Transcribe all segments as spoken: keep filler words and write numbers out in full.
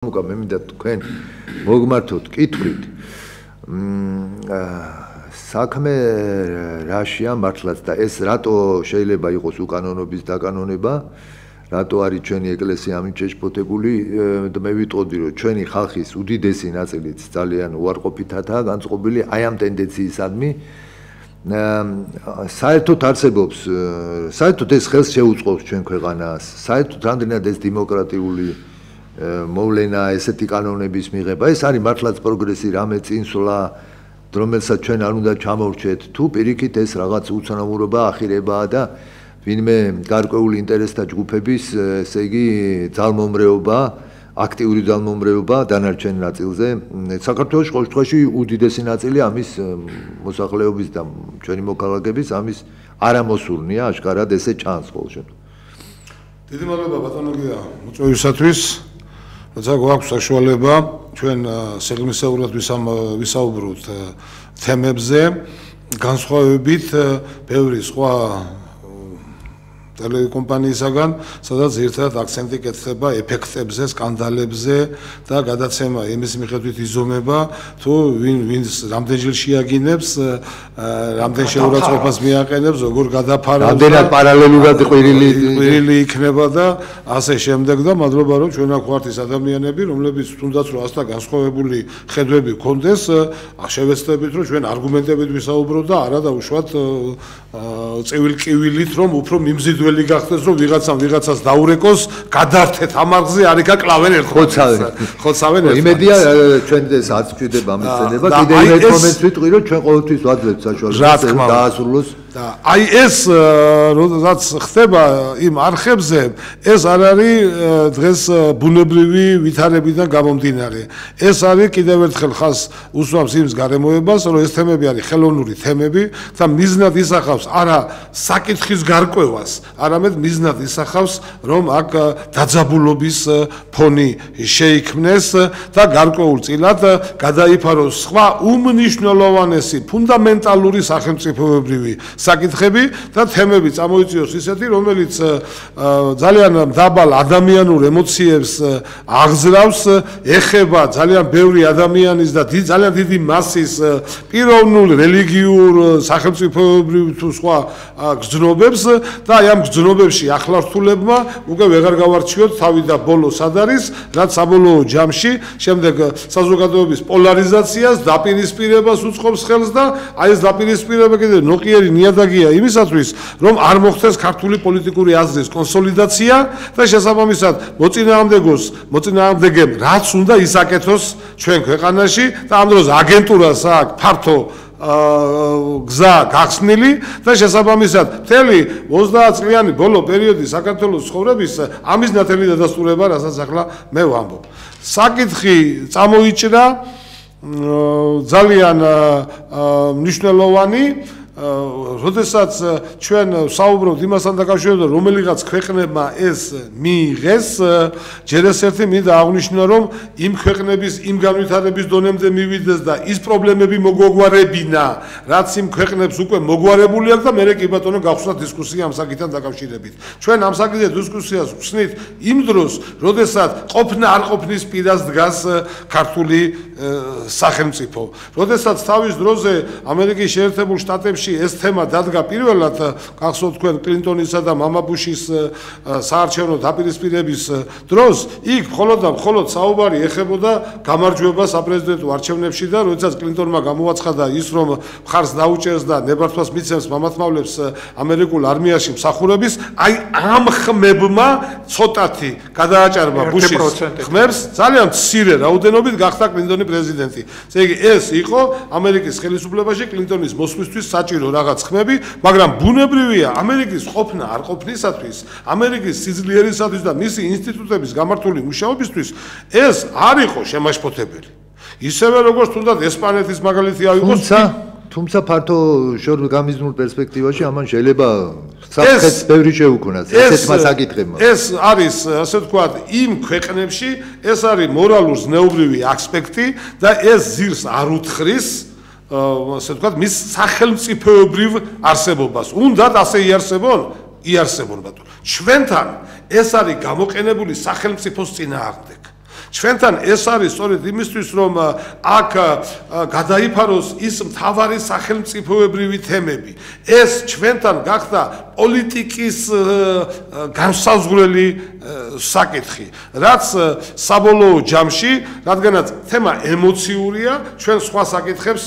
მოკა მე მინდა თქვენ მოგმართოთ კითხვით საქმე რაშია მართლაც და ეს რატო შეიძლება იყოს უკანონობის დაკანონება რატო არის ჩვენი ეკლესია ამით შეშფოთებული და მე ვიტყოდი რომ ჩვენი ხალხის უდიდესი ნაწილიც ძალიან უარყოფითადაა განწყობილი აი ამ ტენდენციისადმი საერთოდ არსებობს საერთოდ ეს ხელს შეუწყობს ჩვენ ქვეყანას საერთოდ რამდენად ეს დემოკრატიული მოვლენა ესეთი კანონების მიღება ეს არის მართლაც პროგრესი რამე წინსვლა რომელსაც ჩვენ არ უნდა ჩამოვრჩეთ თუ პირიქით ეს რაღაც უცნაურობა ახირებაა და ვინმე გარკვეული ინტერესთა ჯგუფების ესე იგი ძალმომრეობა აქტიური ძალმომრეობა დანარჩენ ნაწილზე საქართველოს ყოველ შემთხვევაში უდიდესი ნაწილი ამის მოსახლეობის და ჩვენი მოქალაქეების ამის არამოსურნია აშკარად ესე čans ყოველ შემთხვევაში დიდი მადლობა ბატონო გია მოწვევისათვის როცა გვაქვს საშუალება ჩვენ სეგმისეულად ვისაუბროთ თემებზე განსხვავებით ბევრი სხვა ტელეკომპანიისაგან სადაც ერთად აქცენტი კეთდება ეფექტებზე, სკანდალებზე და გადაცემა იმის მიხედვით იზომება თუ ვინ ვინს რამდენჯერ შეაგინებს, რამდენ შეურაცხყოფას მიაყენებს, როგორ გადაფარავს, რამდენად პარალელურად ყვირილი ყვირილი იქნება და ასე შემდეგ და მადლობა რომ ჩვენ აქ ვართ ის ადამიანები, რომლებიც თუნდაც რომ ასთა განსხვავებული ხედვები გქონდეს, შევეცდებით რომ ჩვენ არგუმენტებით ვისაუბროთ და არა დავუშვათ წევილ-კივილით რომ უფრო მიმზიდველი გახდეს რომ ვიღაცამ ვიღაცას დაურეკოს გადართეთ ამაღზე არიქა კლავენ ერთხელ ხოცავენ ხოცავენ ერთხელ იმედია ჩვენ ეს არც გვჭირდება მისცენება კიდევ ერთ მომენტს ვიტყვი რომ ჩვენ ყოველთვის ვაძლევთ საშუალებას დაასრულოს და აი ეს რაც ხდება იმ არხებზე ეს არ არის დღეს ბუნებრივი ვითარებიდან გამომდინარე ეს არის კიდევ ერთხელ ხას უსვამს იმის გარემოებას რომ ეს თემები არის ხელოვნური თემები და მიზნად ისახავს არა საკითხის გარკვევას არამედ მიზნად ისახავს რომ აქ დაძაბულობის ფონი შეიქმნეს და გარკვეულწილად გადაიფაროს სხვა უმნიშვნელოვანესი ფუნდამენტალური სახელმწიფოებრივი საკითხები და თემები წამოიწიოს ისეთი რომელიც ძალიან დაბალ ადამიანურ ემოციებს აღზრავს ეხება ძალიან ბევრი ადამიანის და ძალიან დიდი მასის პიროვნულ რელიგიურ სახელმწიფოებრივ თუ სხვა გრძნობებს და აი ამ გრძნობებში ახლართულებმა უკვე ვეღარ გავარჩიოთ თავი და ბოლო სად არის რაც საბოლოო ჯამში შემდეგ საზოგადოების პოლარიზაციას დაპირისპირებას უწყობს ხელს და აი ეს დაპირისპირება კიდე ნოყიერი ნიადაგია იმისათვის რომ არ მოხდეს ქართული პოლიტიკური აზრის კონსოლიდაცია და შესაბამისად მოწინააღმდეგოს მოწინააღმდეგემ რაც უნდა ისაკეთოს ჩვენ ქვეყანაში და ამ დროს აგენტურას აქვს ფართო გზა გახსნილი და შესაბამისად მთელი ოცდაათ წლიანი ბოლო პერიოდი საქართველოს ცხოვრების ამის ნათელი დადასტურება რასაც ახლა მე ვამბობ საკითხი წამოიჭრა ძალიან მნიშვნელოვანი როდესაც ჩვენ საუბრობთ იმასთან დაკავშირებით რომელიღაც ქვეყნებმა ეს მიიღეს ჯერ ეს ერთი მინდა აღვნიშნო რომ იმ ქვეყნების იმ განვითარების დონემდე მივიდეს და ის პრობლემები მოგვაგვარებინა რაც იმ ქვეყნებს უკვე მოგვარებული აქვს და მე კი ბატონო გავხსნა დისკუსია ამ საკითხთან დაკავშირებით ჩვენ ამ საკითხზე დისკუსიას ვხსნით იმ დროს როდესაც ყოფნა არ ყოფნის პირას დგას ქართული სახელმწიფო როდესაც თავის დროზე ამერიკის შეერთებულ შტატებში ეს თემა დადგა პირველად გახსოვთ თქვენ კლინტონისა და მამა ბუშის საარჩევნო დაპირისპირების დროს იქ მხოლოდ და მხოლოდ საუბარი ეხებოდა გამარჯვებას საპრეზიდენტო არჩევნებში და როდესაც კლინტონმა გამოაცხადა ის რომ მხარს დაუჭერს და ნებართვას მიცემს მამათმავლებს ამერიკულ არმიაში მსახურების აი ამ ხმებმა ცოტათი გადააჭარბა ბუშის ხმებს ძალიან მცირე რაოდენობით გახდა კლინტონი პრეზიდენტი ესე იგი ეს იყო ამერიკის ხელისუფლებაში კლინტონის მოსვლისთვის საჭირო რაღაც ხმები, მაგრამ ბუნებრივია ამერიკის ყოფნა არ ყოფნისათვის, ამერიკის სიძლიერისათვის და მისი ინსტიტუტების გამართული მუშაობისთვის ეს არ იყო შემაშფოთებელი. ისევე როგორც თუნდაც ესპანეთის მაგალითი აიღოს, თუმცა თუმცა ფართო შორგამიზნულ პერსპექტივაში ამან შეიძლება საფრთხეც ბევრი შეუქმნას ესეთმა საკითხებმა. ეს არის, ასე ვთქვათ, იმ ქვეყნებში ეს არის მორალურ ზნეობრივი ასპექტი და ეს ზირს არ უთხრის ასე ვთქვათ, მის სახელმწიფოებრივ არსებობას. უნდათ ასე იარსებონ, იარსებონ ბატონო. ჩვენთან ეს არის გამოყენებული სახელმწიფოს წინააღმდეგ. ჩვენთან ეს არის სწორედ იმისთვის, რომ აქ გადაიფაროს ის მთავარი სახელმწიფოებრივი თემები. ეს ჩვენთან გახდა პოლიტიკის განსაზღვრელი საკითხი, რაც საბოლოო ჯამში, რადგანაც თემა ემოციურია, ჩვენ სხვა საკითხებს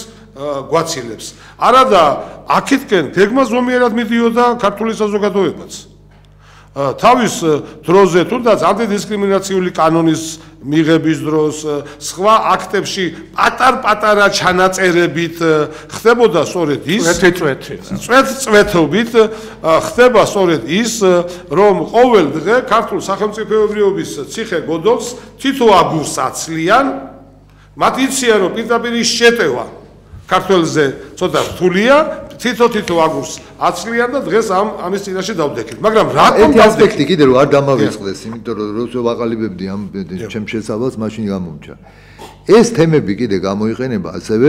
გვაცილებს. არადა აქეთკენ გეგმა ზომიერად მიდიოდა ქართული საზოგადოებაც. თავის დროზე თუნდაც ანტიდისკრიმინაციული კანონის მიღების დროს სხვა აქტებში პატარ-პატარა ჩანაწერებით ხდებოდა სწორედ ის წვეთ-წვეთობით ხდება სწორედ ის, რომ ყოველ დღე ქართულ სახელმწიფოებრიობის ციხე-გოდოლს თითო აგურს აცლიან, მათ იციან, რომ პირდაპირ შეტევა ქართველზე ცოტა რთულია, თითო-თითო აგურს აცლიან და დღეს ამ ამის წინაშე დავდექით. მაგრამ რატომ დავდექით? ეს ასპექტი კიდე რომ არ დამავიწყდეს, იმიტომ რომ როცა ვაყალიბებდი ამ ჩემ შესავალს, მაშინ გამომჩა. ეს თემები კიდე გამოიყენება ასევე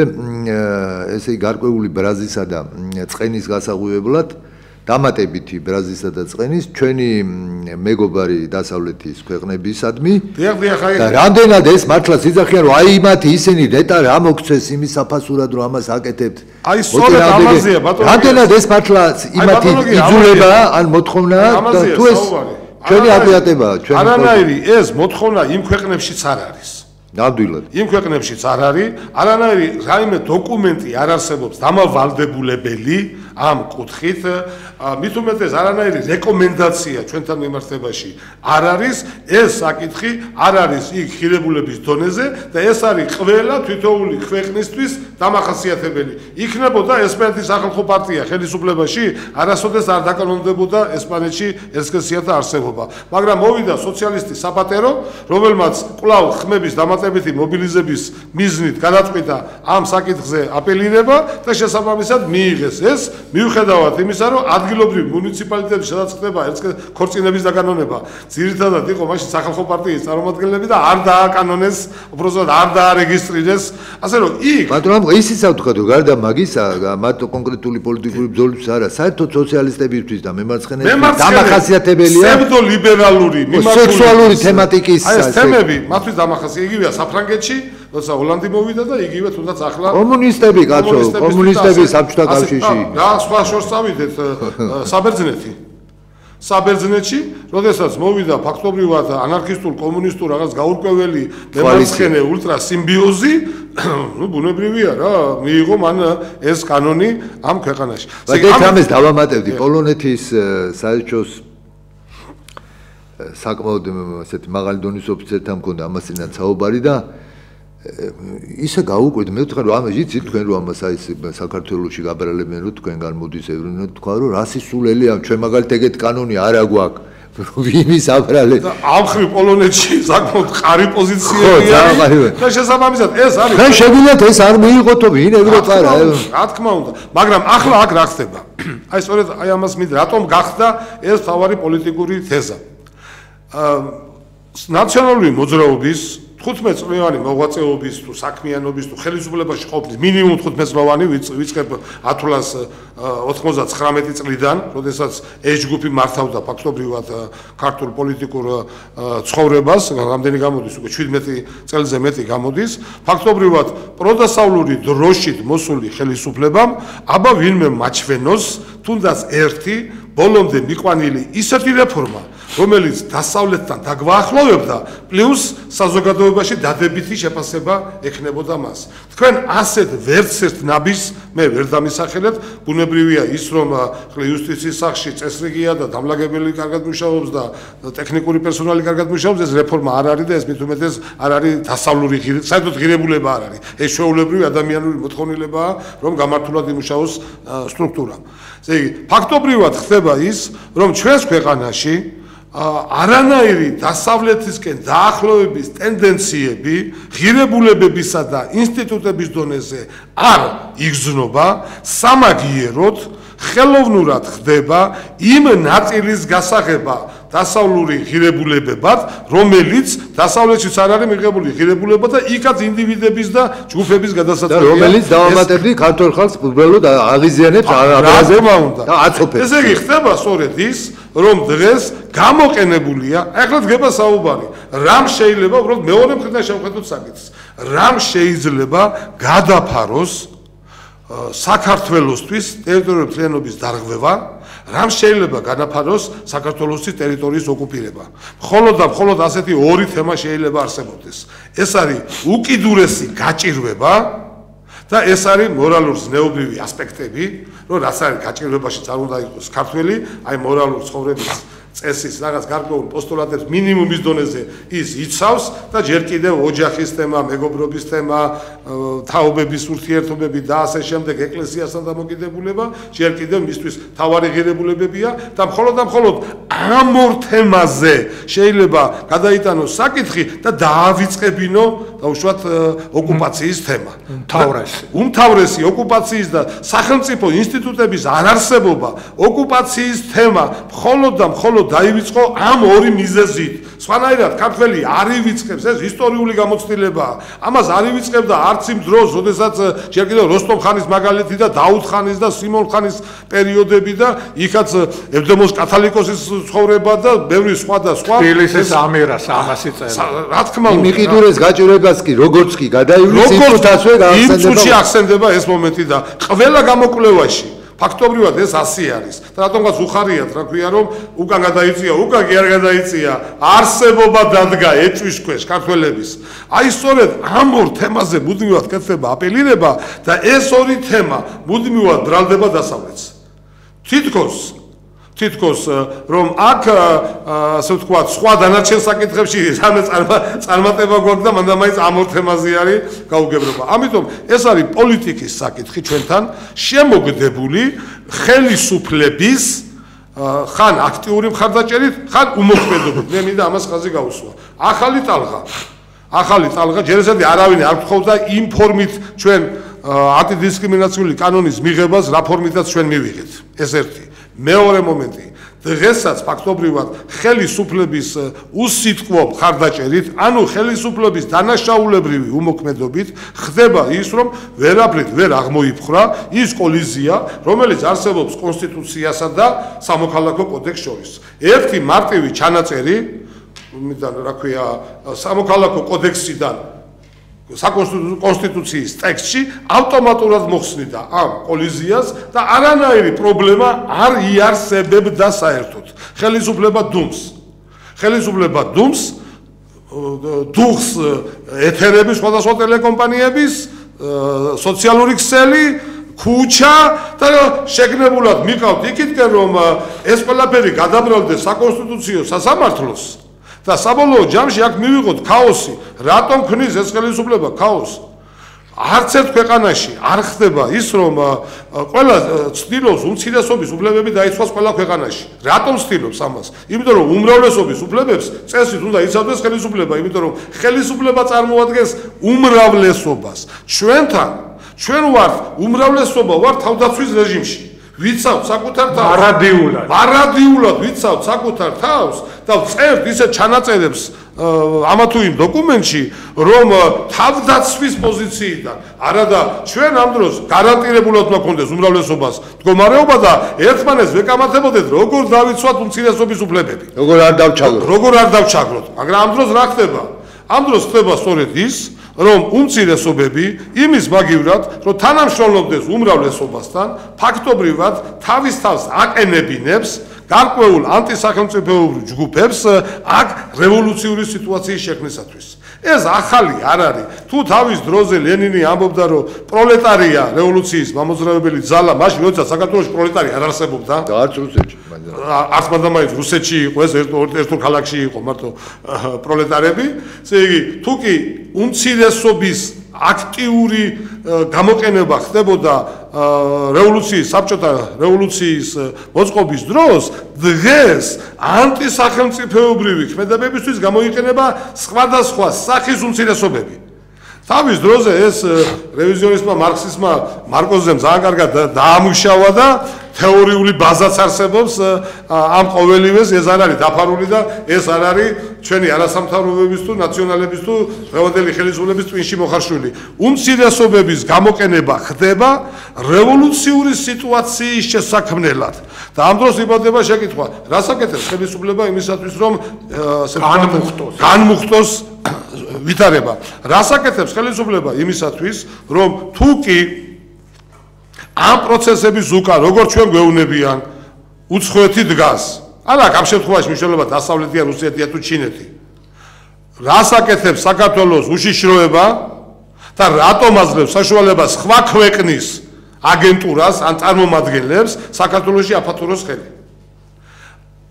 ესე იგი გარკვეული ბრაზისა და წყენის გასაღვივებლად, დამატებითი ბრაზისა და წყენის ჩვენი მეგობარი დასავლეთის ქვეყნებისადმი და რამდენად ეს მართლა სიძახიან რომ აი მათი ისინი ნეტა რა მოგცეს იმის საფასურად რომ ამას აკეთებთ აი სწორედ ამაზეა ბატონო რამდენად ეს მართლა იმათი იძულება ან მოთხოვნა და თუ ეს ჩვენი აპიატებაა ჩვენ არანაირი ეს მოთხოვნა იმ ქვეყნებშიც არ არის ნამდვილად იმ ქვეყნებშიც არ არის არანაირი რაიმე დოკუმენტი არ არსებობს დამავალდებულებელი ამ კუთხით მით უმეტეს არანაირი რეკომენდაცია ჩვენთან მიმართებაში არ არის ეს საკითხი არ არის იქ ხირებულების დონეზე და ეს არის ყველა თითოეული ქვეყნისთვის დამახასიათებელი იქნებოდა ესპანეთის სახალხო პარტია ხელისუფლებაში არასოდეს არ დაკანონდებოდა ესპანეთში ესქესიათა არსებობა მაგრამ მოვიდა სოციალისტი საპატერო რომელმაც კვლავ ხმების დამატებითი მობილიზების მიზნით გადაწყვიტა ამ საკითხზე აპელირება და შესაბამისად მიიღეს ეს მიუხედავად იმისა, რომ ადგილობრივი მუნიციპალიტეტი სადაც ხდება ქორწინების დაკანონება, ძირითადად იყო მაშინ სახალხო პარტიის წარმომადგენლები და არ დააკანონეს, უბრალოდ არ დაარეგისტრირეს, ასე რომ იქ ბატონო, ისიც ავთქვათ, რომ გარდა მაგისა, მათ კონკრეტული პოლიტიკური ბრძოლების არა, საერთოდ სოციალისტებისთვის და მემარცხენეებისთვის დამახასიათებელია სევდოლიბერალური, სექსუალური თემატიკის ეს თემები მათთვის დამახასიათებელია, იგივეა საფრანგეთში როცა ჰოლანდი მოვიდა და იგივე თუნდაც ახლა კომუნისტები კაცო კომუნისტები საბჭოთა კავშირში რა სხვა შორს წავიდეთ საბერძნეთი საბერძნეთში როდესაც მოვიდა ფაქტობრივად ანარქისტულ კომუნისტურ რაღაც გაურკვეველი მემარცხენე ულტრა სიმბიოზი ну ბუნებრივია რა მიიღო მან ეს კანონი ამ ქვეყანაში და ამას დავამატებდი პოლონეთის საელჩოს საკმაოდ ესეთი მაღალი დონის ოფიცერთან მქონდა ამასინაც საუბარი და ისა გაუკვირდა მე ვთქვა რომ ამას იცით თქვენ რომ ამას აი საქართველოში გაბრალებენ რომ თქვენგან მოდის ევროპა თქვა რომ რასისულელი ამ ჩვენ მაგალითად ეგეთ კანონი არა გვაქვს ვიმის აბრალე და ამხრივ პოლონეთში საკმაოდ ყარი პოზიციებია და შესაბამისად ეს არის ჩვენ შეგვიძლიათ ეს არ მიიღოთო ვინ ევროპა რა რა თქმა უნდა მაგრამ ახლა აქ რა ხდება აი სწორედ აი ამას მით რატომ გახდა ეს თავარი პოლიტიკური თეზა ნაციონალური მოძრაობის თხუთმეტ წლიანი მოღვაწეობის თუ საქმიანობის თუ ხელისუფლებაში ყოფნის მინიმუმ თხუთმეტ წლიანი ვიწყებ ათლას ოთხმოცდათხრამეტი წლიდან, როდესაც ეჯგუფი მართავდა ფაქტობრივად ქართულ პოლიტიკურ ცხოვრებას, რამდენი გამოდის უკვე შვიდმეტი წელზე მეტი გამოდის, ფაქტობრივად პროდასავლური დროშით მოსული ხელისუფლებამ აბა ვინმე მაჩვენოს თუნდაც ერთი ბოლომდე მიყვანილი ისეთი რეფორმა რომელიც დასავლეთთან დაგვაახლოვებდა, პლუს საზოგადოებაში დადებითი შეფასება ექნებოდა მას. თქვენ ასეთ ვერცერთ ნაბის მე ვერ დამისახელეთ, ბუნებრივია ის, რომ იუსტიციის სახში წესრიგია და დამლაგებელი კარგად მუშაობს და ტექნიკური პერსონალი კარგად მუშაობს, ეს რეფორმა არ არის და ეს მით უმეტეს არ არის დასავლური საერთოდ ღირებულება არ არის. ეს შეულებრივი ადამიანური მოთხოვნილებაა, რომ გამართულად იმუშაოს სტრუქტურა. ესე იგი, ფაქტობრივად ხდება ის, რომ ჩვენს ქვეყანაში არანაირი დასავლეთისკენ დაახლოების ტენდენციები ღირებულებებისა და ინსტიტუტების დონეზე არ იგრძნობა, სამაგიეროდ ხელოვნურად ხდება იმ ნაწილის გასაღება დასავლური ღირებულებებად, რომელიც დასავლეთშიც არ არის მიღებული ღირებულება და იქაც ინდივიდების და ჯგუფების გადასაწყვეტია. რომელიც დავამატებდი ქართულ ხალხს უბრალოდ აღიზიანებს, აღაზევს და აცოფებს. ესე იგი ხდება სწორედ ის, რომ დღეს გამოყენებულია, ახლა დგება საუბარი, რამ შეიძლება უბრალოდ მეორე მხრიდან შევხედოთ საკითხს. რამ შეიძლება გადაფაროს საქართველოსთვის ტერიტორიული მთლიანობის დარღვევა, რამ შეიძლება განაფაროს საქართველოსთვის ტერიტორიის ოკუპირება. მხოლოდ და მხოლოდ ასეთი ორი თემა შეიძლება არსებობდეს. ეს არის უკიდურესი გაჭირვება და ეს არის მორალურ-ზნეობრივი ასპექტები, რომ რაც არის გაჭირვებაში წარ უნდა იყოს ქართველი, აი მორალურ ცხოვრების წესის რაღაც გარკვეულ პოსტულატებს მინიმუმის დონეზე ის იცავს და ჯერ კიდევ ოჯახის თემა, მეგობრობის თემა, თაობების ურთიერთობები და ასე შემდეგ ეკლესიასთან დამოკიდებულება ჯერ კიდევ მისთვის თავარი ღირებულებებია და მხოლოდ და მხოლოდ ამ ორ თემაზე შეიძლება გადაიტანოს საკითხი და დაავიწყებინო დაუშვათ ოკუპაციის თემა. უმთავრესი. უმთავრესი ოკუპაციის და სახელმწიფო ინსტიტუტების არარსებობა, ოკუპაციის თემა მხოლოდ და მხოლოდ დაივიწყო ამ ორი მიზეზით. სხვანაირად ქართველი არ ივიწყებს, ეს ისტორიული გამოცდილებაა. ამას არ ივიწყებდა არც იმ დროს, როდესაც ჯერ კიდევ როსტომ ხანის მაგალითი და დაუდ ხანის და სიმონ ხანის პერიოდები და იქაც ევდემოს კათალიკოსის ცხოვრება და ბევრი სხვა და სხვა. თბილისის ამირას ამასი წერა. რა თქმა უნდა. მიყიდურეს გაჭირვებას კი როგორც კი გადაივლის როგორც ასე იმ წუთში ახსენდება ეს მომენტი და ყველა გამოკვლევაში ფაქტობრივად ეს ასე არის. და რატომღაც უხარიათ, რა ქვია, რომ უკან გადაიწია, უკან კი არ გადაიწია, არსებობა დადგა ეჭვის ქვეშ ქართველების. აი სწორედ ამ ორ თემაზე მუდმივად კეთდება აპელირება და ეს ორი თემა მუდმივად ბრალდება დასავლეთს. თითქოს თითქოს რომ აქ ასე ვთქვათ, სხვა დანარჩენ საკითხებში რამე წარმატება გვაქვს და მანდა მაინც ამ ორ თემაზე არის გაუგებრობა. ამიტომ ეს არის პოლიტიკის საკითხი ჩვენთან შემოგდებული ხელისუფლების ხან აქტიური მხარდაჭერით, ხან უმოქმედობით. მე მინდა ამას ხაზი გაუსვა. ახალი ტალღა. ახალი ტალღა ჯერ ესეთი არავინ არ გთხოვდა იმ ფორმით ჩვენ ანტიდისკრიმინაციული კანონის მიღებას, რა ფორმითაც ჩვენ მივიღეთ. ეს ერთი. მეორე მომენტი, დღესაც ფაქტობრივად ხელისუფლების უსიტყვო მხარდაჭერით, ანუ ხელისუფლების დანაშაულებრივი უმოქმედობით ხდება ის, რომ ვერაფრით ვერ აღმოიფხრა ის კოლიზია, რომელიც არსებობს კონსტიტუციასა და სამოქალაქო კოდექსს შორის. ერთი მარტივი ჩანაწერი, მიდან რა ქვია, სამოქალაქო კოდექსიდან საკონსტიტუციის ტექსტში ავტომატურად მოხსნიდა ამ კოლიზიას და არანაირი პრობლემა არ იარსებებდა საერთოდ. ხელისუფლება დუმს. ხელისუფლება დუმს დუხს ეთერების სხვადასხვა ტელეკომპანიების სოციალური ქსელი ქუჩა და შეგნებულად მიყავთ იქითკენ რომ ეს ყველაფერი გადაბრალდეს საკონსტიტუციო სასამართლოს და საბოლოო ჯამში აქ მივიღოთ ქაოსი. რატომ ქნის ეს ხელისუფლება ქაოსს? არც ერთ ქვეყანაში არ ხდება ის, რომ ყველა ცდილობს უმცირესობის უფლებები დაიცვას ყველა ქვეყანაში. რატომ ცდილობს ამას? იმიტომ რომ უმრავლესობის უფლებებს წესით უნდა იცავდეს ხელისუფლება, იმიტომ რომ ხელისუფლება წარმოადგენს უმრავლესობას. ჩვენთან ჩვენ ვართ უმრავლესობა, ვართ თავდაცვის რეჟიმში. ვიცავთ საკუთარ თავს. მარადიულად. მარადიულად ვიცავთ საკუთარ თავს და წერთ ისეთ ჩანაწერებს ამა თუ იმ დოკუმენტში, რომ თავდაცვის პოზიციიდან არადა ჩვენ ამ დროს გარანტირებულად უნდა გქონდეს უმრავლესობას მდგომარეობა და ერთმანეთს ვეკამათებოდეთ, როგორ დავიცვათ უმცირესობის უფლებები. როგორ არ დავჩაგროთ. როგორ არ დავჩაგროთ. მაგრამ ამ დროს რა ხდება? ამ დროს ხდება სწორედ ის, რომ უმცირესობები იმის მაგივრად, რომ თანამშრომლობდეს უმრავლესობასთან, ფაქტობრივად თავის თავს აყენებინებს გარკვეულ ანტისახელმწიფოებრივ ჯგუფებს აქ რევოლუციური სიტუაციის შექმნისათვის. ეს ახალი არ არის. თუ თავის დროზე ლენინი ამბობდა, რომ პროლეტარია რევოლუციის მამოძრავებელი ძალა, მაშინ როცა საქართველოში პროლეტარი არ არსებობდა და არც რუსეთში, არც მანდამაინც რუსეთში იყო, ეს ერთ-ერთ ქალაქში იყო მარტო პროლეტარები. ესე იგი, თუ კი უმცირესობის აქტიური გამოყენება ხდებოდა რევოლუციის, საბჭოთა რევოლუციის მოწყობის დროს, დღეს ანტისახელმწიფოებრივი ქმედებებისთვის გამოიყენება სხვადასხვა სახის უმცირესობები. თავის დროზე ეს რევიზიონისტმა მარქსისტმა მარკოზემ ძალიან კარგად დაამუშავა და თეორიული ბაზაც არსებობს ამ ყოველივეს, ეს არ არის დაფარული და ეს არ არის ჩვენი არასამთავრობოების თუ ნაციონალების თუ დღევანდელი ხელისუფლების ტვინში მოხარშული. უმცირესობების გამოყენება ხდება რევოლუციური სიტუაციის შესაქმნელად. და ამ დროს იბადება შეკითხვა, რას აკეთებს ხელისუფლება იმისათვის, რომ განმუხტოს განმუხტოს ვითარება. რას აკეთებს ხელისუფლება იმისათვის, რომ თუ კი ამ პროცესების უკან, როგორც ჩვენ გვეუბნებიან, უცხოეთი დგას. არა, ამ შემთხვევაში მნიშვნელობა დასავლეთია, რუსეთია თუ ჩინეთი. რას აკეთებს საქართველოს უშიშროება და რატომ აძლევს საშუალებას სხვა ქვეყნის აგენტურას ან წარმომადგენლებს საქართველოში აფათუროს ხელი.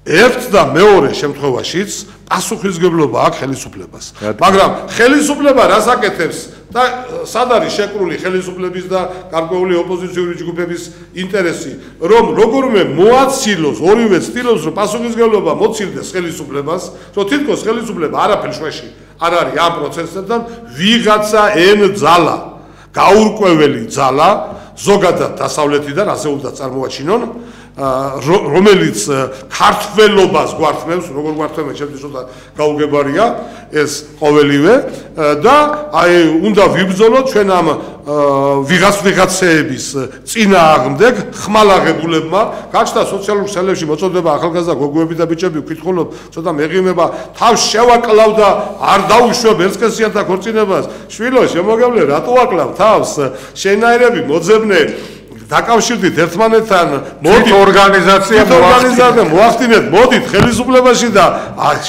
ერთ და მეორე შემთხვევაშიც პასუხისმგებლობა აქვს ხელისუფლებას. მაგრამ ხელისუფლება რას აკეთებს და სად არის შეკრული ხელისუფლების და გარკვეული ოპოზიციური ჯგუფების ინტერესი, რომ როგორმე მოაცილოს, ორივე ცდილობს, რომ პასუხისმგებლობა მოცილდეს ხელისუფლებას, რომ თითქოს ხელისუფლება არაფერ შვეში არ არის ამ პროცესებთან, ვიღაცა ენძალა, გაურკვეველი ძალა, ზოგადად დასავლეთიდან ასე უნდა წარმოაჩინონ, რომელიც ქართველობას გვართმევს, როგორ გვართმევს, ჩემთვის ცოტა გაუგებარია ეს ყოველივე და აი უნდა ვიბრძოლოთ ჩვენ ამ ვიღაც ვიღაცეების წინააღმდეგ ხმალაღებულებმა. გაჩნდა სოციალურ ქსელებში მოწოდება ახალგაზრდა გოგოები და ბიჭები ვკითხულობ, ცოტა მეღიმება, თავს შევაკლავ და არ დაუშვებ ერთსქესიანთა ქორწინებას. შვილო, შემოგავლე, რატო აკლავ თავს? შენაერები მოძებნე დაკავშირდით ერთმანეთთან, მოდით ორგანიზაცია ორგანიზაცია მოახდინეთ, მოდით ხელისუფლებაში და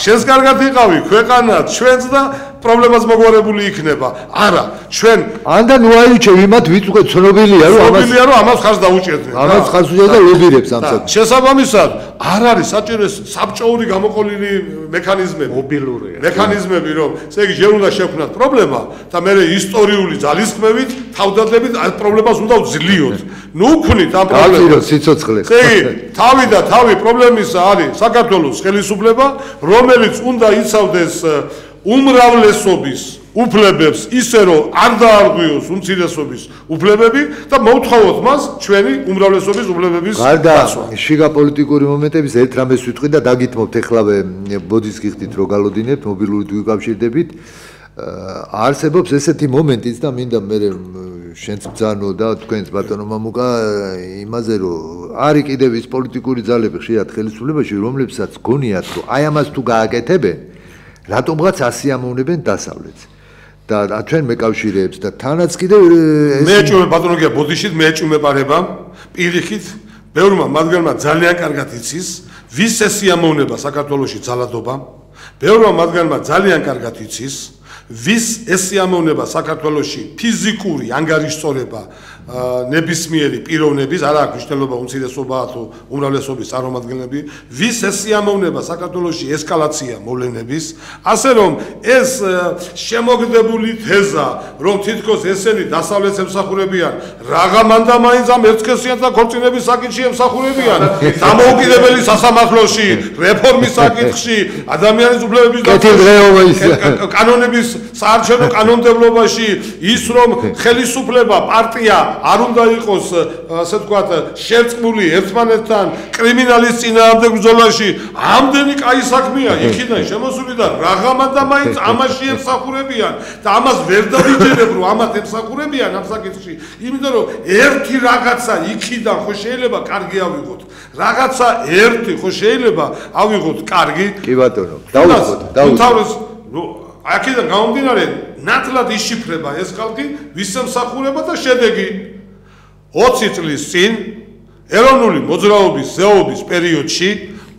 შენს კარგად იყავი ქვეყანად, ჩვენც და პრობლემას მოგვარებული იქნება. არა, ჩვენ ანდა ნუ აიჩევ იმათ ვიც უკვე ცნობილია, რომ ამას ცნობილია, რომ ამას ხარს დაუჭერდნენ. ამას ხარს უჭერდა და ლობირებს ამ საკითხს. შესაბამისად, არ არის საჭირო საბჭოური გამოყოლილი მექანიზმები, მობილურია. მექანიზმები, რომ ესე იგი ჯერ უნდა შევქმნათ პრობლემა და მე ისტორიული ძალისხმევით, თავდადებით ამ პრობლემას უნდა ვძლიოთ. ნუ ვქნით ამ პრობლემას. გავწირო სიცოცხლეს. ესე იგი, თავი და თავი პრობლემისა არის საქართველოს ხელისუფლება, რომელიც უნდა იცავდეს უმრავლესობის უფლებებს ისე რომ არ დაარღვიოს უმცირესობის უფლებები და მოვთხოვოთ მას ჩვენი უმრავლესობის უფლებების დაცვა. შიგა პოლიტიკური მომენტების ერთ რამეს ვიტყვი და დაგითმობთ ეხლავე ბოდის გიხდით რომ გალოდინებთ მობილური გვიკავშირდებით. არსებობს ესეთი მომენტიც და მინდა მე შენც ბძანო და თქვენც ბატონო მამუკა იმაზე რომ არის კიდევ ის პოლიტიკური ძალები ხშირად ხელისუფლებაში რომლებსაც გონიათ რომ აი ამას თუ გააკეთებენ რატომღაც ასიამოვნებენ დასავლეთს და ჩვენ მეკავშირეებს და თანაც კიდევ მე ეჭვმე ბატონო გია ბოდიშით მე ეჭვმეპარება პირიქით ბევრმა მათგანმა ძალიან კარგად იცის ვის ესიამოვნება საქართველოში ძალადობა ბევრმა მათგანმა ძალიან კარგად იცის ვის ესიამოვნება საქართველოში ფიზიკური ანგარიშწორება ნებისმიერი პიროვნების არა აქვს მნიშვნელობა უმცირესობაა თუ უმრავლესობის წარმომადგენლები ვის ესიამოვნება საქართველოში ესკალაცია მოვლენების ასე რომ ეს შემოგდებული თეზა რომ თითქოს ესენი დასავლეთს ემსახურებიან რაღა მანდა მაინც ამ ერთსქესიანთა ქორწინების საკითხში ემსახურებიან დამოუკიდებელი სასამართლოში რეფორმის საკითხში ადამიანის უფლებების კანონების საარჩევნო კანონმდებლობაში ის რომ ხელისუფლება პარტია არ უნდა იყოს ასე ვთქვათ შერწყმული ერთმანეთთან კრიმინალის წინააღმდეგ ბრძოლაში ამდენი კაი საქმეა იქიდან შემოსული და რაღამა და მაინც ამაში ემსახურებიან და ამას ვერ დავიჯერებ რომ ამათ ემსახურებიან ამ საკითხში იმიტომ რომ ერთი რაღაცა იქიდან ხო შეიძლება კარგი ავიღოთ რაღაცა ერთი ხო შეიძლება ავიღოთ კარგი კი ბატონო დაუწყოთ დაუწყოთ აქედან გამომდინარე ნათლად იშიფრება ეს ხალხი ვის ემსახურება და შედეგი ოცი წლის წინ ეროვნული მოძრაობის ზეობის პერიოდში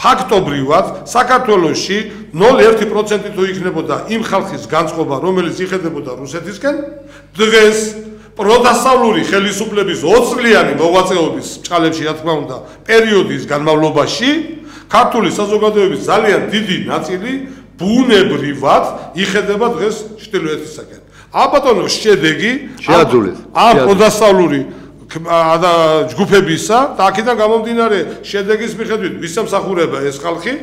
ფაქტობრივად საქართველოში ნული კoma ერთი პროცენტი თუ იქნებოდა იმ ხალხის განწყობა რომელიც იხედებოდა რუსეთისკენ დღეს პროდასავლური ხელისუფლების ოც წლიანი მოღვაწეობის ჭალებში რა თქმა უნდა პერიოდის განმავლობაში ქართული საზოგადოების ძალიან დიდი ნაწილი ბუნებრივად იხედება დღეს ჩრდილოეთისაკენ. აბატონო შედეგი შეაძულეს. ამ პროდასავლური ჯგუფებისა და აქედან გამომდინარე შედეგის მიხედვით ვის ემსახურება ეს ხალხი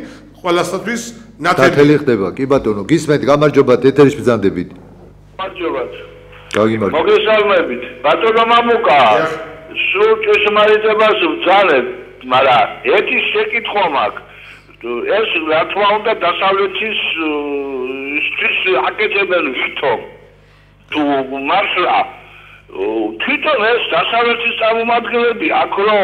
ყველასათვის ნათელი ხდება. კი ბატონო, გისმენთ, გამარჯობათ, ეთერის ბრძანდებით. გამარჯობათ. გაგიმარჯობათ. მოგესალმებით. ბატონო მამუკა, სულ ჭეშმარიტებას ვძალებ. მაგრამ ერთი შეკითხვა მაქვს. ეს რა თქმა უნდა დასავლეთის ის აკეთებენ ვითომ თუ მართლა თვითონ ეს დასავლეთის წარმომადგენლები აქ რო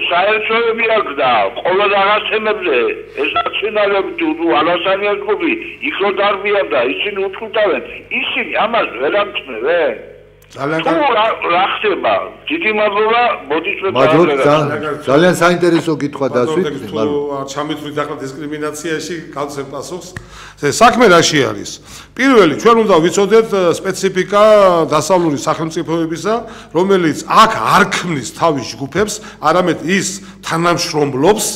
საერთოები აქვს და ყოველ რაღაც თემებზე ეს ნაციონალები თუ ალასანიას გუბი იქ რო დარბიან და ისინი უთხრთავენ ისინი ამას ვერ ამჩნევენ ძალიან რა ხდება დიდი მადლობა მოდით ძალიან საინტერესო კითხვა დასვით არ ჩამითვლით ახლა დისკრიმინაციაში გავცემ პასუხს საქმე რაში არის პირველი ჩვენ უნდა ვიცოდეთ სპეციფიკა დასავლური სახელმწიფოებისა რომელიც აქ არ ქმნის თავის ჯგუფებს არამედ ის თანამშრომლობს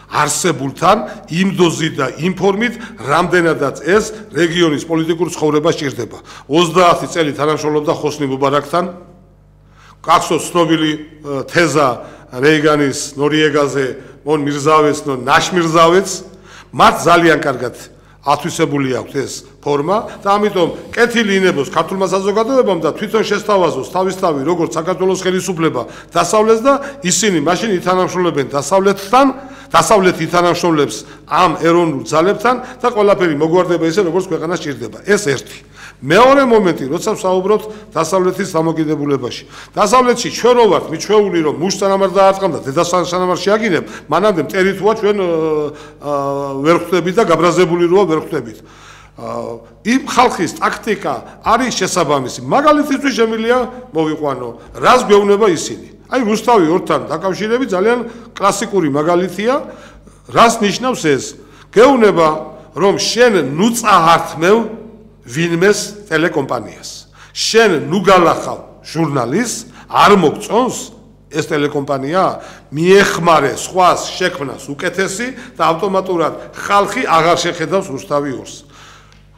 არსებულთან იმ დოზით და იმ ფორმით რამდენადაც ეს რეგიონის პოლიტიკურ ცხოვრებას ჭირდება ოცდაათი წელი თანამშრომლობდა ხოსნი მუბარაკთან გახსოვთ ცნობილი თეზა რეიგანის ნორიეგაზე მონ მირზავეს ნო ნაშმირზავეც მათ ძალიან კარგად ათვისებული აქვს ეს ფორმა და ამიტომ კეთილი ინებოს ქართულმა საზოგადოებამ და თვითონ შესთავაზოს თავისთავი როგორც საქართველოს ხელისუფლება დასავლეთს და ისინი მაშინ ითანამშრომლებენ დასავლეთთან დასავლეთი ითანამშრომლებს ამ ეროვნულ ძალებთან და ყველაფერი მოგვარდება ისე როგორც ქვეყანას ჭირდება ეს ერთი მეორე მომენტი როცა ვსაუბრობთ დასავლეთის დამოკიდებულებაში დასავლეთში ჩვენ რო ვართ მიჩვეული რომ მუშტანამარ დაარტყამ და დედასანამარ შეაგინებ მანამდე მტერითუა ჩვენ ვერ ხვდებით და გაბრაზებული როა ვერ ხვდებით იმ ხალხის ტაქტიკა არის შესაბამისი მაგალითისთვის შემიძლია მოვიყვანო რას გვეუბნება ისინი აი რუსთავი ორთან დაკავშირებით ძალიან კლასიკური მაგალითია რას ნიშნავს ეს გეუბნება რომ შენ ნუ წაართმევ ვინმეს ტელეკომპანიას შენ ნუ გალახავ ჟურნალისტს არ მოგწონს ეს ტელეკომპანია მიეხმარე სხვას შექმნას უკეთესი და ავტომატურად ხალხი აღარ შეხედავს რუსთავი ორს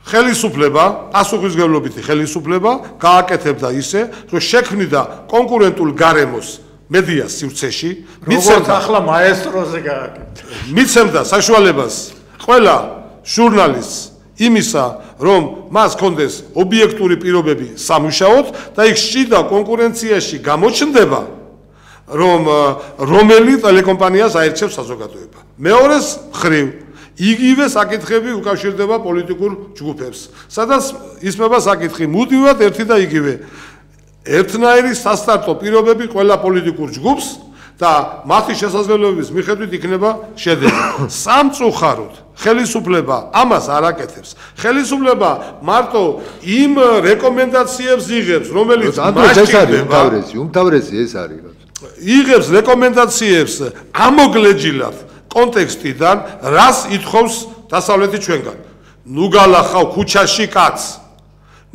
ხელისუფლება პასუხისმგებლობითი ხელისუფლება გააკეთებდა ისე რომ შექმნიდა კონკურენტულ გარემოს მედიას სივრცეში მიცემდა ახლა მაესტროზე გააკეთა მიცემდა საშუალებას ყველა ჟურნალისტს იმისა რომ მას კონდეს ობიექტური პირობები სამუშაოდ და იქ შიდა კონკურენციაში გამოჩნდება რომ რომელი ტელეკომპანიას აერჩევს საზოგადოება მეორეს მხრივ იგივე საკითხები უკავშირდება პოლიტიკურ ჯგუფებს სადაც ისმება საკითხი მუდმივად ერთი და იგივე ერთნაირი სასტარტო პირობები ყველა პოლიტიკურ ჯგუფს და მათი შესაძლებლობების მიხედვით იქნება შედეგი სამწუხაროდ ხელისუფლება ამას არ აკეთებს ხელისუფლება მარტო იმ რეკომენდაციებს იღებს რომელიც მასჭირდება უმთავრესი ეს არის იღებს რეკომენდაციებს ამოგლეჯილად კონტექსტიდან რას ითხოვს დასავლეთი ჩვენგან ნუ გალახავ ქუჩაში კაცს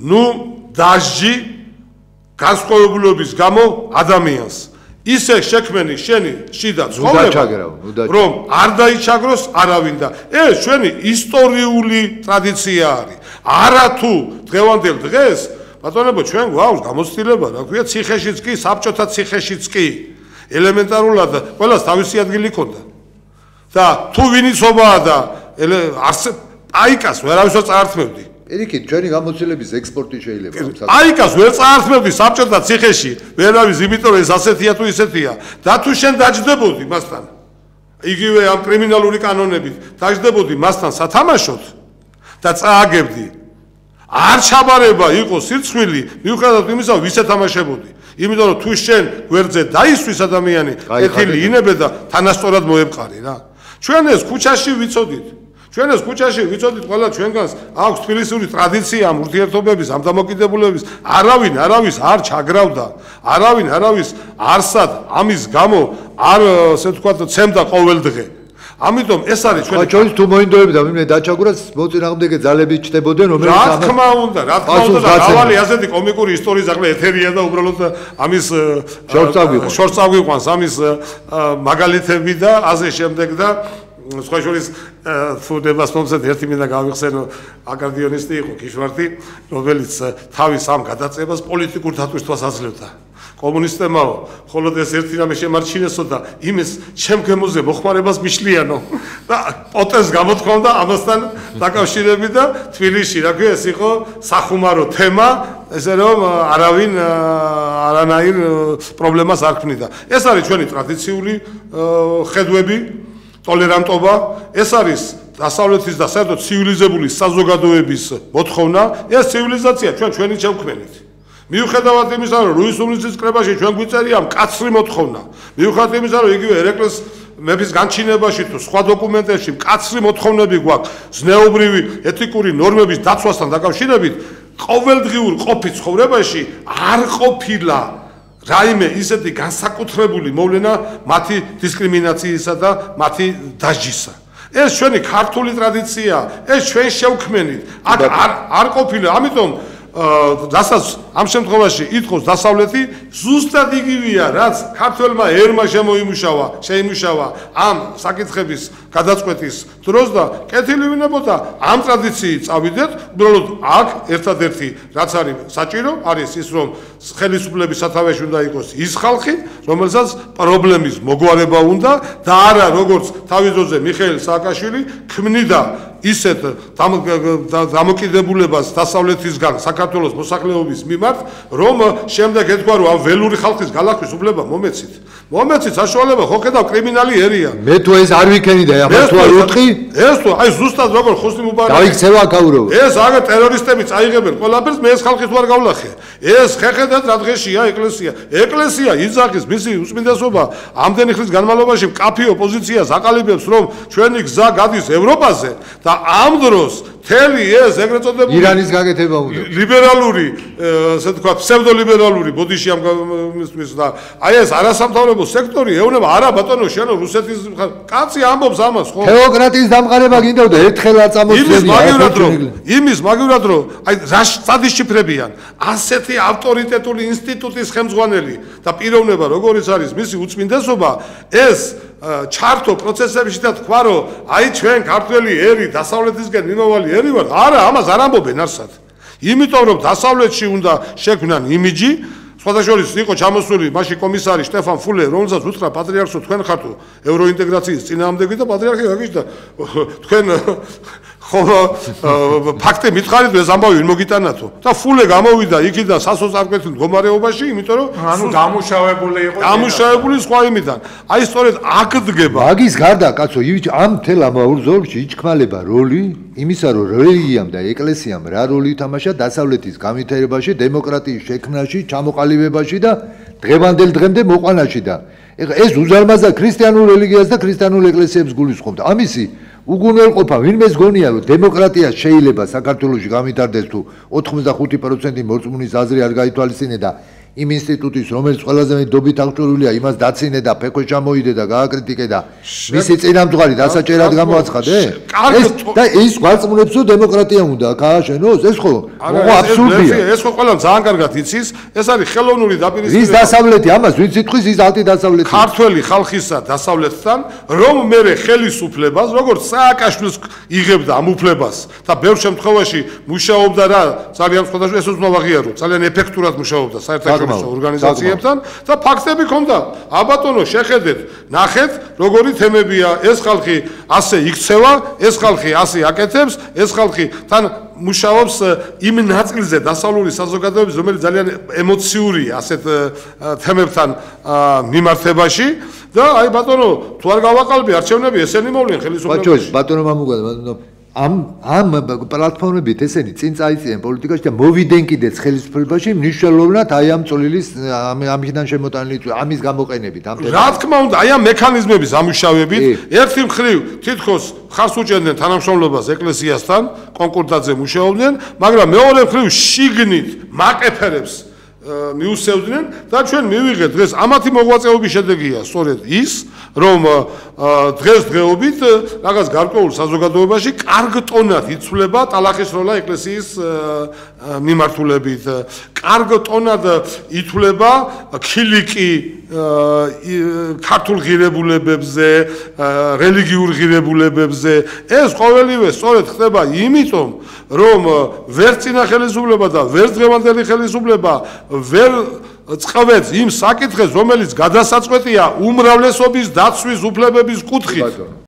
ნუ დაჟჯი განსხვავებულობის გამო ადამიანს ისე შექმენი შენი შიდა ცხოვრება რომ არ დაიჩაგროს არავინ და ეს ჩვენი ისტორიული ტრადიცია არის არათუ დღევანდელ დღეს ბატონებო ჩვენ გვაქვს გამოცდილება რა ქვია ციხეშიც კი საბჭოთა ციხეშიც კი ელემენტარულად ყველას თავისი ადგილი ჰქონდა და თუ ვინიცობაა და აიკას ვერავისო წაართმევდი ერიკით ჩვენი გამოცდილების ექსპორტი შეიძლება აიკას ვერ წაართმევდი საბჭოთა ციხეში ვერავის იმიტომ ეს ასეთია თუ ისეთია და თუ შენ დაჯდებოდი მასთან იგივე ამ კრიმინალური კანონებით დაჯდებოდი მასთან სათამაშოდ და წააგებდი არ ჩაბარება იყო სირცხვილი მიუხედავად იმისა ვის ეთამაშებოდი იმიტომ რომ თუ შენ გვერდზე დაისვის ადამიანი ეთილი ინებე და თანასწორად მოეპყარი რა ჩვენ ეს ქუჩაში ვიცოდით ჩვენ ეს ქუჩაში ვიცოდით ყველა ჩვენგანს აქვს თბილისური ტრადიცია ამ ურთიერთობების ამ დამოკიდებულების არავინ არავის არ ჩაგრავდა არავინ არავის არსად ამის გამო არ ასე ვთქვათ ცემდა ყოველდღე ამიტომ ეს არის ჩვენი ჩვენს თუ მოინდოებდა ვინმე დაჩაგვრას მოწინააღმდეგე ძალები ჩდებოდნენ რომელიც რა თქმა უნდა რა თქმა უნდა დავალი ასეთი კომიკური ისტორიის ახლა ეთერია და უბრალოდ ამის შორს წავიყვანს ამის მაგალითები და ასე შემდეგ და სხვა შორის თუ დებასმომსად ერთი მინდა გავიხსენო აკარდიონისტი იყო ქიშვარტი რომელიც თავის ამ გადაწებას პოლიტიკურ დატვირთვას აძლევდა კომუნისტებმაო, მხოლოდ ეს ერთი რამე შემარჩინესო და იმის შემგემოზე მოხმარებას მიშლიანო და პოტენს გამოთქვამდა ამასთან დაკავშირებით და თბილისში, რა ქვია, ეს იყო სახუმარო თემა, ესე რომ არავინ არანაირ პრობლემას არ ქმნიდა. ეს არის ჩვენი ტრადიციული ხედვები, ტოლერანტობა, ეს არის დასავლეთის და საერთოდ ცივილიზებული საზოგადოების მოთხოვნა, ეს ცივილიზაცია ჩვენ ჩვენი შევქმნით. მიუხედავად იმისა, რომ რუის უმრიცის კრებაში ჩვენ გვიწერია მკაცრი მოთხოვნა, მიუხედავად იმისა, რომ იგივე ერეკლეს მეფის განჩინებაში თუ სხვა დოკუმენტებში მკაცრი მოთხოვნები გვაქვს ზნეობრივი ეთიკური ნორმების დაცვასთან დაკავშირებით, ყოველდღიურ ყოფით ცხოვრებაში არ ყოფილა რაიმე ისეთი განსაკუთრებული მოვლენა მათი დისკრიმინაციისა და მათი დასჯისა. ეს ჩვენი ქართული ტრადიციაა, ეს ჩვენ შევქმნით. აქ არ არ ყოფილა, ამიტომ რასაც ამ შემთხვევაში ითხოვს დასავლეთი, ზუსტად იგივეა, რაც ქართველმა ერმა შემოიმუშავა, შეიმუშავა ამ საკითხების გადაწყვეტის დროს და კეთილი ვინებოდა ამ ტრადიციით წავიდეთ, უბრალოდ აქ ერთადერთი რაც არის საჭირო, არის ის, რომ ხელისუფლების სათავეში უნდა იყოს ის ხალხი, რომელსაც პრობლემის მოგვარება უნდა და არა როგორც თავის დროზე მიხეილ სააკაშვილი ქმნიდა ისეთ დამოკიდებულებას დასავლეთისგან საქართველოს მოსახლეობის მიმართ, რომ შემდეგ ეთქვა, რომ ამ ველური ხალხის გალახვის უფლება მომეცით. მომეცით საშუალება, ხო ხედავ კრიმინალი ერია. მე თუ ეს არ ვიქენიდა, ახლა თუ არ უტყი? ეს თუ აი ზუსტად როგორ ხოსნი მუბარაკი. დაიქცევა აკაურო. ეს აგ ტერორისტები წაიღებენ ყველაფერს, მე ეს ხალხი თუ არ გავლახე. ეს ხეხედად რა დღეშია ეკლესია. ეკლესია იძახის მისი უსმინდესობა ამდენი ხნის განმავლობაში მკაფიო პოზიციას აყალიბებს, რომ ჩვენი გზა გადის ევროპაზე და ამ დროს თელი ეს ეგრეთ წოდებული ირანის გაკეთება უნდა ლიბერალური, ასე თქვა, ფსევდოლიბერალური ბოდიში ამ მისთვის და აი ეს არასამთავრობო სექტორი ეუბნება არა ბატონო, შენო რუსეთის კაცი ამბობს ამას, ხო? თეოკრატიის დამყარება გინდოდა ერთხელ არ წამოწევია. იმის მაგივრად რომ, იმის მაგივრად რომ, აი რა სადისჩიფრებიან, ასეთი ავტორიტეტული ინსტიტუტის ხელმძღვანელი და პიროვნება როგორიც არის მისი უწმინდესობა, ეს ჩართო პროცესებში და თქვა, რომ აი ჩვენ ქართველი ერი დასავლეთისგან მიმავალი ერი ვართ, არა, ამას არ ამბობენ არსად. იმიტომ რომ დასავლეთში უნდა შექმნან იმიჯი, სხვადასხვა იყო ჩამოსული მაშინ კომისარი შტეფან ფულე, რომელსაც უთხრა პატრიარქსო, თქვენ ხართ ევროინტეგრაციის წინააღმდეგი და პატრიარქი გაგიჟდა თქვენ ხო ფაქტი მითხარით, ეს ამბავი ვინ მოგიტანათო და ფულე გამოვიდა იქიდან სასოწარკვეთილ მდგომარეობაში, იმიტომ რომ ანუ დამუშავებული იყო დამუშავებული სხვა იმიდან. აი სწორედ აქ დგება. მაგის გარდა კაცო, ამ თელ ამაურ ზოლში იჩქმალება როლი იმისა, რომ რელიგიამ და ეკლესიამ რა როლი ითამაშა დასავლეთის განვითარებაში, დემოკრატიის შექმნაში, ჩამოყალიბებაში და დღევანდელ დღემდე მოყვანაში და ეხლა ეს უზარმაზა ქრისტიანულ რელიგიას და ქრისტიანულ ეკლესიებს გულისხმობდა. ამისი უგუნელყოფა ვინმეს გონია, რომ დემოკრატია შეიძლება საქართველოში გამვითარდეს თუ ოთხმოცდახუთი პროცენტი მორწმუნის აზრი არ გაითვალისწინე და იმ ინსტიტუტის, რომელიც ყველაზე მეტ დობით აღჭურვილია, იმას დაცინე და ფექვე ჩამოიდე და გააკრიტიკე და მისი წინამძღვარი დასაჭერად გამოაცხადე? ეს და ის გვარწმუნებსო დემოკრატია უნდა გააშენოს? ეს ხო აბსურდია. ეს ხო ყველამ ძალიან კარგად იცის, ეს არის ხელოვნური დაპირისპირება. ის დასავლეთი, ამას ვინც იტყვის, ის ანტიდასავლეთი. ქართველი ხალხისა დასავლეთთან, რომ მერე ხელისუფლებას, როგორც სააკაშვილს იღებდა ამ უფლებას და ბევრ შემთხვევაში მუშაობდა რა, ძალიან სხვადასხვა ეს უნდა ვაღიარო, ძალიან ეფექტურად მუშაობდა საერთაშორისო ორგანიზაციებთან და ფაქტები ქონდა. აბატონო, შეხედეთ, ნახეთ, როგორი თემებია, ეს ხალხი ასე იქცევა, ეს ხალხი ასე აკეთებს, ეს ხალხი თან მუშაობს იმ ნაწილზე დასავლური საზოგადოების, რომელიც ძალიან ემოციურია ასეთ თემებთან მიმართებაში და აი ბატონო, თუ არ გავაყალბი არჩევნები, ესენი მოვლენ ხელისუფლებაში. ბატონო მამუგან, ბატონო ამ ამ პლატფორმებით ესენი წინ წაიწიან პოლიტიკაში და მოვიდნენ კიდეც ხელისუფლებაში მნიშვნელოვნად აი ამ წოლილის ამიდან შემოტანილი ამის გამოყენებით ამ რა თქმა უნდა აი ამ მექანიზმების ამუშავებით ერთი მხრივ თითქოს ხარს უჭერდნენ თანამშრომლობას ეკლესიასთან კონკორდატზე მუშაობდნენ, მაგრამ მეორე მხრივ შიგნით მაკეფერებს მიუსევდნენ და ჩვენ მივიღეთ დღეს ამათი მოღვაწეობის შედეგია სწორედ ის, რომ დღესდღეობით რაღაც გარკვეულ საზოგადოებაში კარგ ტონად იცვლება ტალახის როლა ეკლესიის მიმართულებით, კარგ ტონად ითვლება ქილიკი ქართულ ღირებულებებზე, რელიგიურ ღირებულებებზე. ეს ყოველივე სწორედ ხდება იმიტომ, რომ ვერ წინა ხელისუფლება და ვერ დღევანდელი ხელისუფლება ვერ წყვეტს იმ საკითხებს, რომელიც გადასაწყვეტია უმრავლესობის დაცვის უფლებების კუთხით.